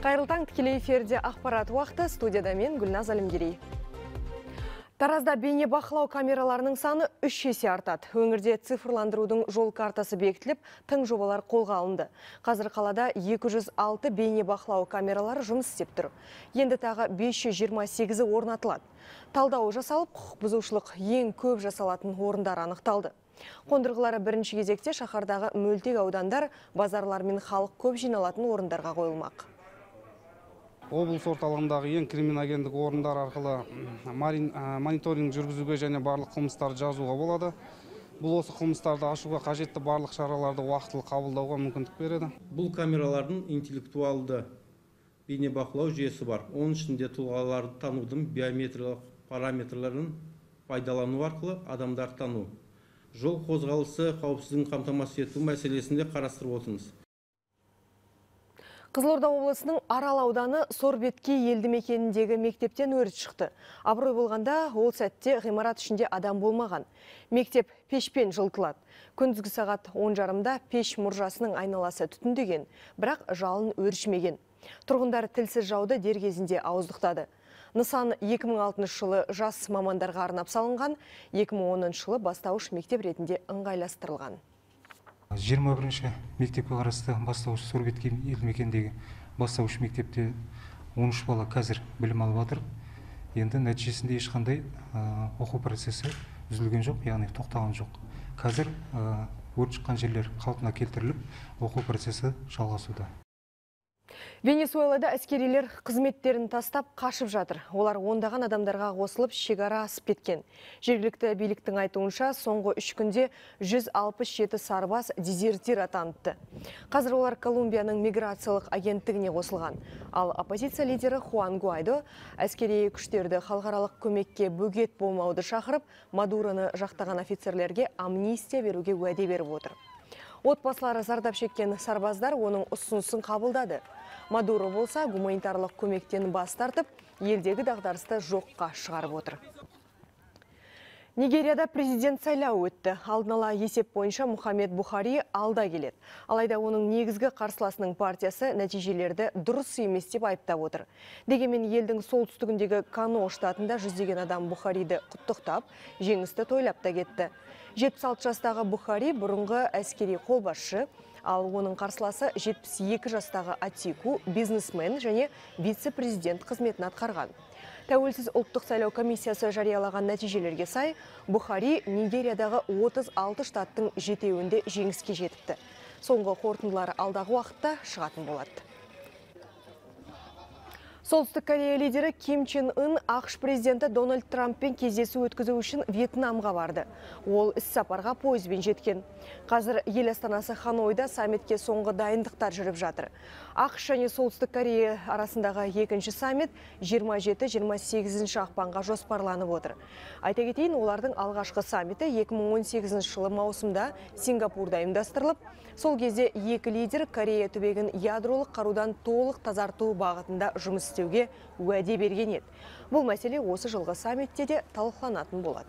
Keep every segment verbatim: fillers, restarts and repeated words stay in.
Қайырлы таң, тікелей эфирде ақпарат уақыты, студияда мен Гүлназ Әлімгерей. Таразда бейне бақылау камераларының саны үш есе артады. Өңірде цифрландырудың жол картасы бекітіліп, тың жобалар қолға алынды. Қазір қалада екі жүз алты бейне бақылау камералары жұмыс істеп тұр. Енді тағы бес жүз жиырма сегізі орнатылады. Талдау жасалып, құқық бұзушылық ең көп жасалатын орындар анықталды. Қондырғылары бірінші кезекте шаһардағы мөлтек аудандар, базарлар мен халық көп жиналатын орындарға қойылмақ. Облыс орталығындағы ең криминогендік орындар арқылы мониторинг жүргізуге және барлық қылмыстарды жазуға болады. Бұл осы қылмыстарды ашуға қажетті барлық шараларды уақытылы қабылдауға мүмкіндік береді. Бұл камералардың интеллектуалды бейнебақылау жүйесі бар. Оның ішінде тұлғаларды танудың биометриялық параметрлерін пайдалану арқылы адамдарды тану. Жол қозғалысы қауіпсіздігін қамтамасыз ету мәселесінде қарастырып отырмыз. Қызылорда облысының Арал ауданы Сорбеткей елді мекеніндегі мектептен өрт шықты. Абырой болғанда ол сәтте ғимарат ішінде адам болмаған. Мектеп пешпен жылтылады. Күндізгі сағат он жарымда пеш мұржасының айналасы түтіндеген, бірақ жалын өршімеген. Тұрғындар тілсіз жауды дер кезінде ауыздықтады. Нысан екі мың алтыншы жылы жас мамандарға арнап салынған, екі мың оныншы жылы бастауыш мектеп ретінде ыңғайластырылған. жиырма бірінші мектепке қарасты бастауыш Сорбеткей елді мекеніндегі бастауыш мектепте он үш бала қазір білім алып жатыр. Енді нәтижесінде ешқандай оқу процесі үзілген жоқ, яғни тоқтаған жоқ. Қазір өрт шыққан жерлер қалпына келтіріліп, оқу процесі жалғасуда. Венесуэлада әскерилер қызметтерін тастап қашып жатыр. Олар ондаған адамдарға қосылып шекара асып кеткен. Жергілікті биліктің айтуынша соңғы үш күнде жүз алпыс жеті сарбаз дезертир атаныпты. Қазір олар Колумбияның миграциялық агенттігіне қосылған. Ал оппозиция лидері Хуан Гуайдо әскери күштерді халықаралық көмекке бөгет болмауды шақырып, Мадуроны жақтаған офицерлерге амнистия беруге уәде беріп отыр. Отбасылары зардап шеккен сарбаздар оның ұсынысын қабылдады. Мадуро болса гуманитарлық көмектен бас тартып, елдегі дағдарысты жоққа шығарып отыр. Нигерияда президент сайлауы өтті. Алдын ала есеп бойынша Мухаммед Бухари алда келеді. Алайда оның негізгі қарсыласының партиясы нәтижелерді дұрыс емес деп айыптап отыр. Дегенмен елдің солтүстігіндегі Кано штатында жүздеген адам Бухариді құттықтап, жеңісті тойлап та кетті. жетпіс алты жастағы Бухари бұрынғы әскери қолбасшы, ал оның қарсыласы жетпіс екі жастағы Атику, бизнесмен және вице-президент қызметін атқарған. Тәуелсіз ұлттық сайлау комиссиясы жариялаған нәтижелерге сай, Бухари Нигериядағы отыз алты штаттың жетеуінде жеңіске жетіпті. Соңғы қорытындылары алдағы уақытта шығатын болады. Солтүстік Корея лидері Ким Чен Ын ақш президенті Дональд Трамппен кездесу өткізу үшін Вьетнамға барды. Ол іс-сапарға пойызбен жеткен. Қазір ел астанасы Ханойда саммитке соңғы дайындықтар жүріп жатыр. ақш және Солтүстік Корея арасындағы екінші саммит жиырма жеті жиырма сегізінші ақпанға жоспарланып отыр. Айта кетейін, олардың алғашқы саммиті екі мың он сегізінші жылы маусымда Сингапурда ұйымдастырылып, сол кезде екі лидер Корея түбегін ядролық қарудан толық тазарту бағытында жұмыс істеуге уәде берген еді. Бұл мәселе осы жылғы саммитте де талқыланатын болады.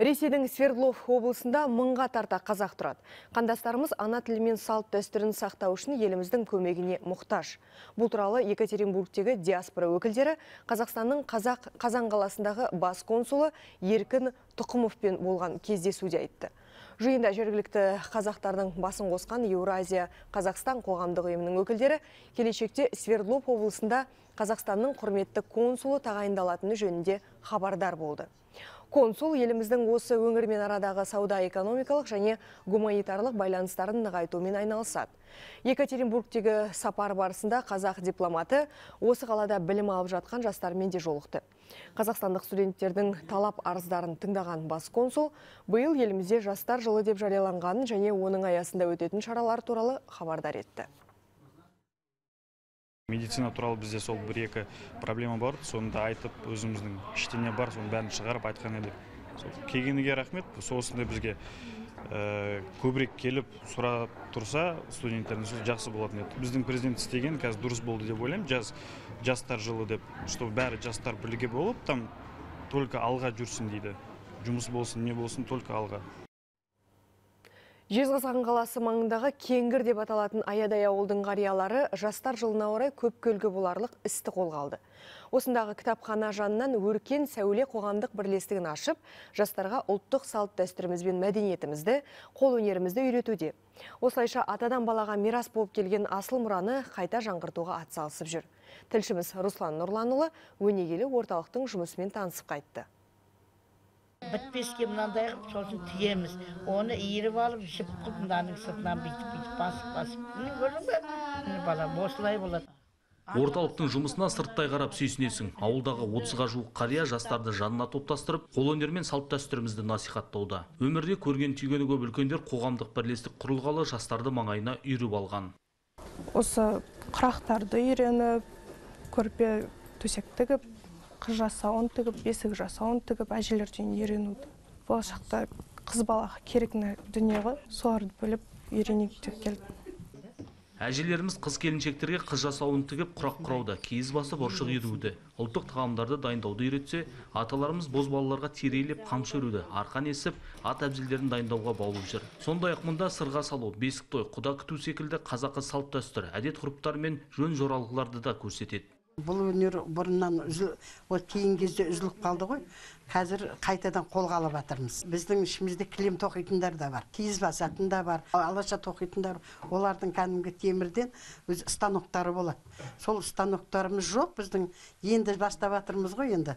Ресейдің Свердлов облысында мыңға тарта қазақ тұрады. Қандастарымыз ана тілі мен салт дәстүрін сақтау үшін еліміздің көмегіне мұқтаж. Бұл туралы Екатеринбургтегі диаспора өкілдері Қазақстанның Қазақ Қазан қаласындағы бас консулы Еркін Тұқымовпен болған кездесуде айтты. Жиында жергілікті қазақтардың басын қосқан Еуразия Қазақстан қоғамдық ұйымының өкілдері келешекте Свердлов облысында Қазақстанның құрметті консулы тағайындалатыны жөнінде хабардар болды. Консул еліміздің осы өңірмен арадағы сауда-экономикалық және гуманитарлық байланыстарын нығайтумен айналысады. Екатеринбургтегі сапар барысында қазақ дипломаты осы қалада білім алып жатқан жастармен де жолықты. Қазақстандық студенттердің талап арыздарын тыңдаған бас консул биыл елімізде жастар жылы деп жарияланғанын және оның аясында өтетін шаралар туралы хабардар етті. Медицина туралы бізде сол бір-екі проблема бар, соны да айтып, өзіміздің іштене бар, соны бәрін шығарып айтқан едік. Келгенге рахмет, соғысында бізге көбірек келіп сұрап тұрса, студенттердің жақсы болатын еді. Біздің президент істеген қазір дұрыс болды деп ойлаймын, жас жастар жылы деп, чтобы бәрі жастар бірге болып, там только алға жүрсін дейді. Жұмыс болсын, не болсын, только алға. Жезқазған қаласы маңындағы Кеңгір деп аталатын аядай ауылдың қариялары жастар жылына орай көп көлгі боларлық істі қолға алды. Осындағы кітапхана жанынан өркен сәуле қоғамдық бірлестігін ашып, жастарға ұлттық салт дәстүріміз бен мәдениетімізді, қол өнерімізді үйретуде. Осылайша атадан балаға мирас болып келген асыл мұраны қайта жаңғыртуға атсалысып жүр. Тілшіміз Руслан Нұрланұлы өнегелі орталықтың жұмысымен танысып қайтты. Бітпеске мынандай қып, сосын тиеміз. Оны иіріп алып, жіп қып, мынаның сыртынан бүйтіп-бүйтіп басып-басып. Міне көрдің бе? Міне бала, осылай болады. Орталықтың жұмысына сырттай қарап сүйсінесің. Ауылдағы отызға жуық қария жастарды жанына топтастырып, қолөнер мен салт дәстүрімізді насихаттауда. Өмірде көрген түйгені көп үлкендер қоғамдық бірлестік құрылғалы жастарды маңайына үйріп алған. Осы қырақтарды үйреніп, көрпе төсек тігіп, қыз жасауын тігіп, бесік жасауын тігіп, әжелерден үйренуді. Болашақта қыз балаға керек дүние ғой, соларды біліп үйренейік деп келдім. Әжелеріміз қыз келіншектерге қыз жасауын тігіп, құрақ құрауды, киіз басып ұршық едуді, ұлттық тағамдарды дайындауды үйретсе, аталарымыз бозбалаларға терейлеп қамшы өруді, арқан есіп, ат әбзелдерін дайындауға баулып жүр. Сондай-ақ мұнда сырға салу, бесік той, құда күту секілді қазақы салт дәстүр, әдет-ғұрыптар мен жөн жоралғыларды да көрсетеді. Бұл өнер бұрыннан кейін кезде үзіліп қалды ғой. Қазір қайтадан қолға алып жатырмыз. Біздің ішімізде кілем тоқитындар да бар, киіз басатын да бар, алаша тоқитындар. Олардың кәдімгі темірден өз станоктары болады. Сол станоктарымыз жоқ, біздің енді бастап жатырмыз ғой енді.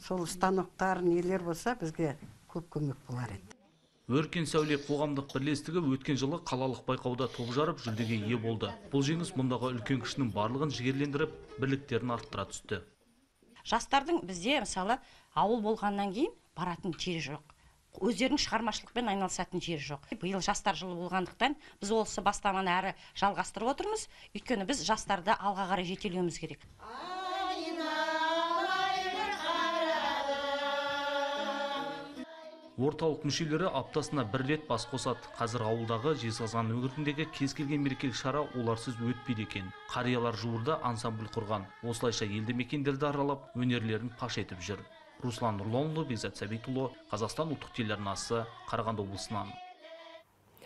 Сол станоктар нелер болса, бізге көп көмек болар еді. Өркен сәуле қоғамдық бірлестігі өткен жылы қалалық байқауда топ жарып жүлдеге ие болды. Бұл жеңіс мұндағы үлкен кішінің барлығын жігерлендіріп, бірліктерін арттыра түсті. Жастардың бізде мысалы ауыл болғаннан кейін баратын жері жоқ. Өздерінің шығармашылықпен айналысатын жері жоқ. Биыл жастар жылы болғандықтан біз осы бастаманы әрі жалғастырып отырмыз. Өйткені біз жастарды алға қарай жетелеуіміз керек. Орталық мүшелері аптасына бір рет бас қосады. Қазір ауылдағы Жезқазған өңіріндегі кез келген мерекелік шара оларсыз өтпейді екен. Қариялар жуырда ансамбль құрған. Осылайша елді мекендерді аралап, өнерлерін паш етіп жүр. Руслан Нұрланұлы, Бекзат Сәбитұлы, Қазақстан ұлттық телеарнасы, Қарағанды облысынан.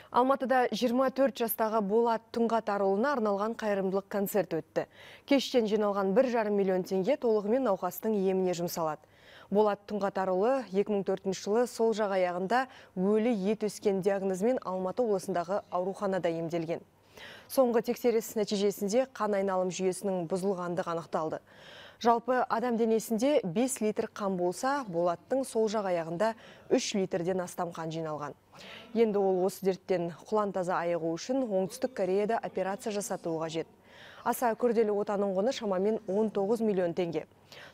Алматыда жиырма төрт жастағы Болат Тұңғатарұлына арналған қайырымдылық концерт өтті. Кештен жиналған бір жарым миллион теңге толығымен науқастың еміне жұмсалады. Болат Тұңғатарұлы екі мың төртінші жылы сол жақ аяғында өлі ет өскен диагнозымен Алматы облысындағы ауруханада емделген. Соңғы тексеріс нәтижесінде қан айналым жүйесінің бұзылғандығы анықталды. Жалпы адам денесінде бес литр қан болса, Болаттың сол жақ аяғында үш литрден астам қан жиналған. Енді ол осы дерттен құлантаза айығу үшін Оңтүстік Кореяда операция жасатуы қажет. Аса күрделі отаның құны шамамен он тоғыз миллион теңге.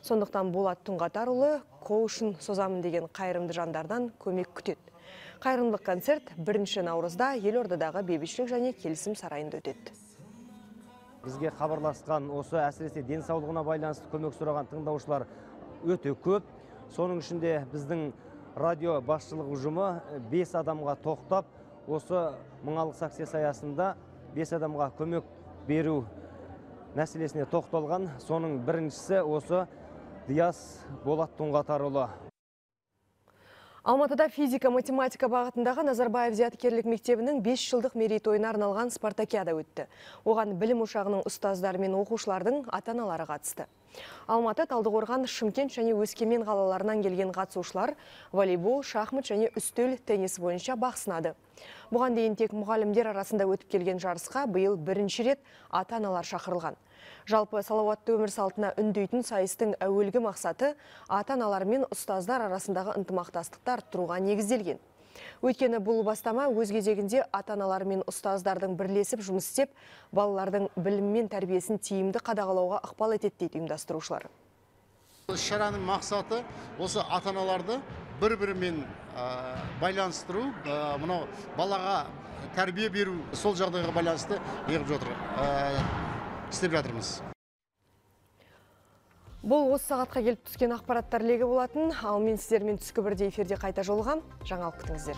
Сондықтан Болат Тұңғатарұлы қол ұшын созамын деген қайырымды жандардан көмек күтеді. Қайырымдылық концерт бірінші наурызда Елордадағы бейбітшілік және келісім сарайында өтеді. Бізге хабарласқан осы әсіресе денсаулығына байланысты көмек сұраған тыңдаушылар өте көп. Соның ішінде біздің радио басшылық ұжымы бес адамға тоқтап, осы мыңалық акция аясында бес адамға көмек беру мәселесіне тоқталған. Соның біріншісі осы Диас Болат Тұңғатарұлы. Алматыда физика-математика бағытындағы Назарбаев зияткерлік мектебінің бес жылдық мерейтойына арналған спартакиада өтті. Оған білім ошағының ұстаздары мен оқушылардың ата-аналары қатысты. Алматы, Талдықорған, Шымкент және Өскемен қалаларынан келген қатысушылар волейбол, шахмат және үстел теннис бойынша бақ сынады. Бұған дейін тек мұғалімдер арасында өтіп келген жарысқа биыл бірінші рет ата-аналар шақырылған. Жалпы салауатты өмір салтына үндейтін сайыстың әуелгі мақсаты ата-аналар мен ұстаздар арасындағы ынтымақтастықты арттыруға негізделген. Өйткені бұл бастама өз кезегінде ата-аналар мен ұстаздардың бірлесіп жұмыс істеп, балалардың білім мен тәрбиесін тиімді қадағалауға ықпал етеді дейді ұйымдастырушылар. Шараның мақсаты осы ата-аналарды бір-бірімен байланыстыру, мынау балаға тәрбие беру, сол жағдайға байланысты егіп жатыр. істеп жатырмыз. Бұл осы сағатқа келіп түскен ақпараттар легі болатын. Ал мен сіздермен түскі бірде эфирде қайта жолығам. Жаңалық күтіңіздер.